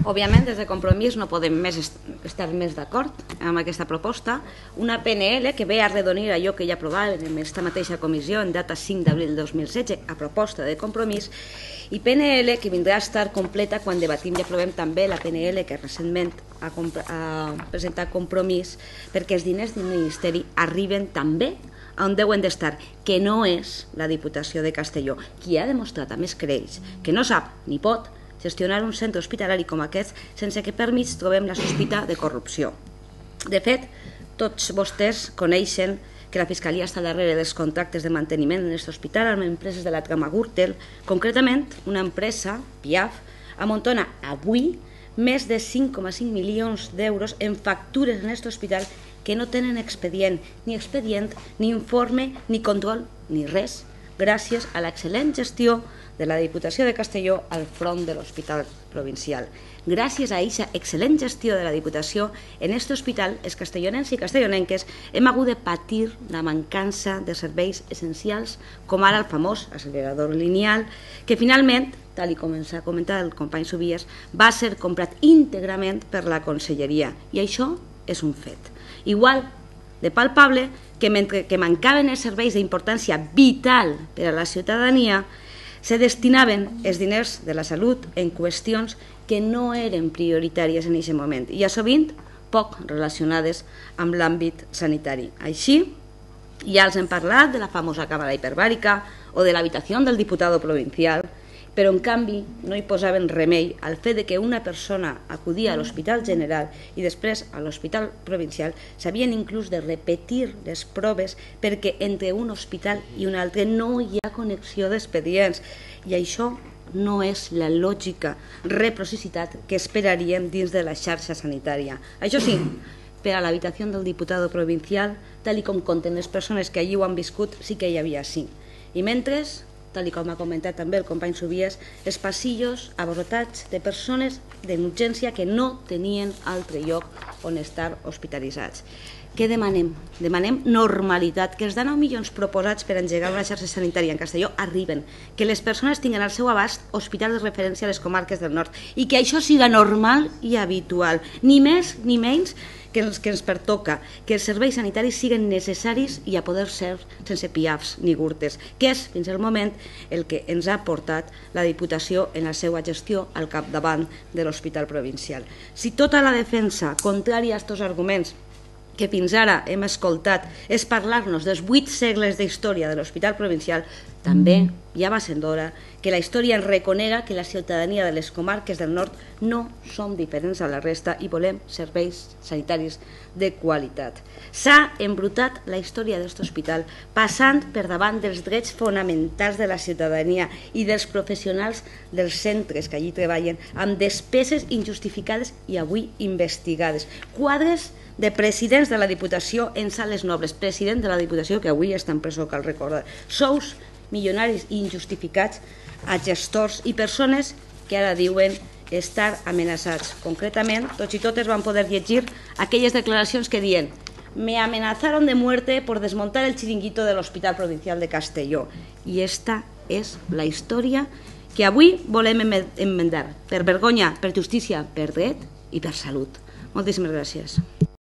Òbviament, des de Compromís no podem estar més d'acord amb aquesta proposta. Una PNL que ve a arredonir allò que ja aprovàvem en aquesta mateixa comissió en data 5 d'abril de 2016 a proposta de Compromís, i PNL que vindrà a estar completa quan debatim i aprovem també la PNL que recentment ha presentat Compromís, perquè els diners del Ministeri arriben també on deuen d'estar, que no és la Diputació de Castelló, qui ha demostrat a més crèdits que no sap ni pot gestionar un centre hospitalari com aquest sense que per mig trobem la sospita de corrupció. De fet, tots vostès coneixen que la Fiscalia està darrere dels contractes de manteniment en aquest hospital amb empreses de la trama Gürtel, concretament una empresa, Piaf, amuntona avui més de 5,5 milions d'euros en factures en aquest hospital que no tenen expedient, ni informe, ni control, ni res, gràcies a l'excel·lent gestió de la Diputació de Castelló al front de l'Hospital Provincial. Gràcies a aquesta excel·lent gestió de la Diputació, en aquest hospital, els castellonencs i castellonenques hem hagut de patir la mancança de serveis essencials, com ara el famós accelerador lineal, que finalment, tal com ens ha comentat el company Subies, va ser comprat íntegrament per la Conselleria, i això és un fet. Igual de palpable que mentre que mancaven els serveis d'importància vital per a la ciutadania, se destinaven els diners de la salut en qüestions que no eren prioritàries en aquest moment i a sovint poc relacionades amb l'àmbit sanitari. Així, ja els hem parlat de la famosa càmera hiperbàrica o de l'habitació del diputat provincial, però en canvi no hi posaven remei al fet que una persona acudia a l'Hospital General i després a l'Hospital Provincial s'havien inclús de repetir les proves perquè entre un hospital i un altre no hi ha connexió d'expedients i això no és la lògica reciprocitat que esperaríem dins de la xarxa sanitària. Això sí, per a l'habitació del diputat provincial, tal com conten les persones que allí ho han viscut, sí que hi havia sí. I mentre, tal com ha comentat també el company Subies, els passillos abarrotats de persones d'urgència que no tenien altre lloc on estar hospitalitzats. Què demanem? Demanem normalitat, que els 19 milions proposats per engegar una xarxa sanitària en Castelló arriben, que les persones tinguin al seu abast hospitals de referència a les comarques del nord i que això siga normal i habitual, ni més ni menys que ens pertoca, que els serveis sanitaris siguin necessaris i a poder ser sense piafs ni gurtes, que és fins al moment el que ens ha portat la Diputació en la seva gestió al capdavant de l'Hospital Provincial. Si tota la defensa contrària a aquests arguments que fins ara hem escoltat és parlar-nos dels 8 segles d'història de l'Hospital Provincial, també ja va sent d'hora que la història ens reconega que la ciutadania de les comarques del nord no som diferents a la resta i volem serveis sanitaris de qualitat. S'ha embrutat la història d'aquest hospital passant per davant dels drets fonamentals de la ciutadania i dels professionals dels centres que allí treballen amb despeses injustificades i avui investigades. Quadres de presidents de la Diputació en sales nobles, president de la Diputació que avui està en presó, cal recordar, sous milionaris i injustificats a gestors i persones que ara diuen estar amenaçats. Concretament, tots i totes van poder llegir aquelles declaracions que diuen «Me amenazaron de muerte por desmontar el chiringuito del Hospital Provincial de Castelló». I esta és la història que avui volem enmendar, per vergonya, per justícia, per dret i per salut. Moltíssimes gràcies.